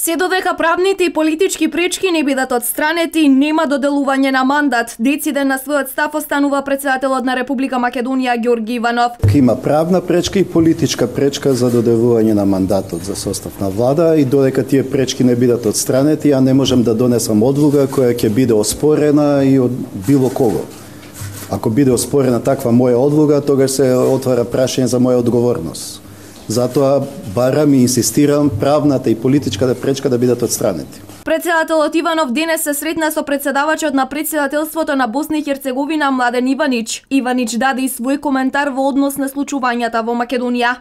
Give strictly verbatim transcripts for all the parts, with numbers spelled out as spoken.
Се додека правните и политички пречки не бидат отстранети, нема доделување на мандат. Дециден на својот став останува претседателот на Република Македонија Ѓорги Иванов. Има правна пречка и политичка пречка за доделување на мандатот за состав на влада и додека тие пречки не бидат отстранети, ја не можам да донесам одлука која ќе биде оспорена и од било кого. Ако биде оспорена таква моја одлука, тогаш се отвара прашање за моја одговорност. Затоа барам и инсистирам правната и политичката пречка да бидат отстранети. Претседателот Иванов денес се сретна со претседавачот на претседателството на Босна и Херцеговина Младен Иванич. Иванич даде и свој коментар во однос на случувањата во Македонија.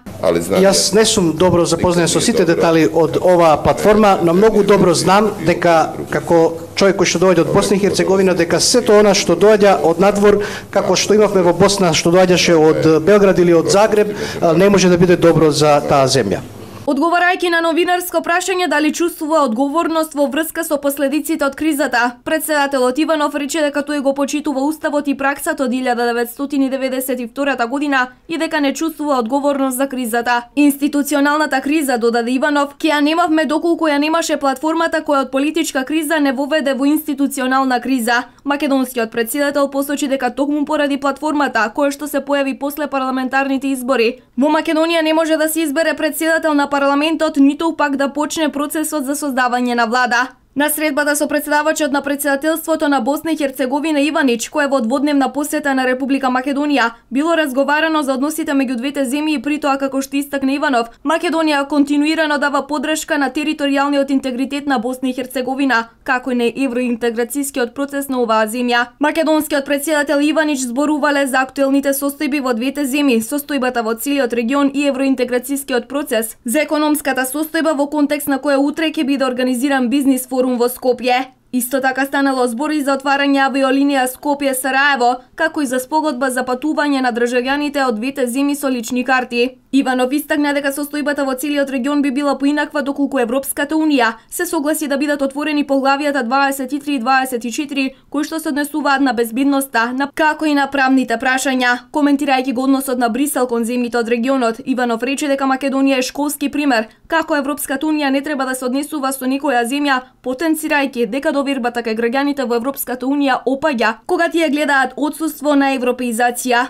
Јас не сум добро запознат со сите детали од оваа платформа, но многу добро знам дека како човек кој што доаѓа од Босна и Херцеговина, дека сето она што доаѓа од надвор, како што имавме во Босна, што доаѓаше од Белград или од Загреб, не може да биде добро за таа земја. Одговарајќи на новинарско прашање дали чувствува одговорност во врска со последиците од кризата, претседателот Иванов рече дека тој го почитува уставот и праксата од илјада деветстотини деветдесет и втора година и дека не чувствува одговорност за кризата. Институционалната криза, додаде Иванов, ќе ја немавме доколку ја немаше платформата која од политичка криза не воведе во институционална криза. Македонскиот претседател посочи дека токму поради платформата која што се појави после парламентарните избори, во Македонија не може да се избере претседател на парламентот, ниту пак да почне процесот за создавање на влада. На средбата со претседавачот на претседателството на Босна и Херцеговина Иванич, кој е во дводневна посета на Република Македонија, било разговарано за односите меѓу двете земји и при тоа, како што истакна Иванов, Македонија континуирано дава подршка на територијалниот интегритет на Босна и Херцеговина, како и на евроинтеграцијскиот процес на оваа земја. Македонскиот претседател Иванич зборувале за актуелните состојби во двете земји, состојбата во целиот регион и евроинтеграцијскиот процес, за економската состојба во контекст на која утре ќе биде организиран бизнис форум во Скопје. Исто така станало збори за отварање авиолинија Скопје-Сараево, како и за спогодба за патување на државјаните од двете земји со лични карти. Иванов истакна дека состојбата во целиот регион би била поинаква доколку Европската унија се согласи да бидат отворени поглавијата дваесет и три и дваесет и четири, кои што се однесуваат на безбедноста, на како и на правните прашања. Коментирајќи го односот на Брисел кон земјите од регионот, Иванов рече дека Македонија е школски пример како Европската унија не треба да се однесува со никоја земја, потенцирајќи дека довербата кај граѓаните во Европската унија опаѓа кога тие гледаат отсуство на европеизација.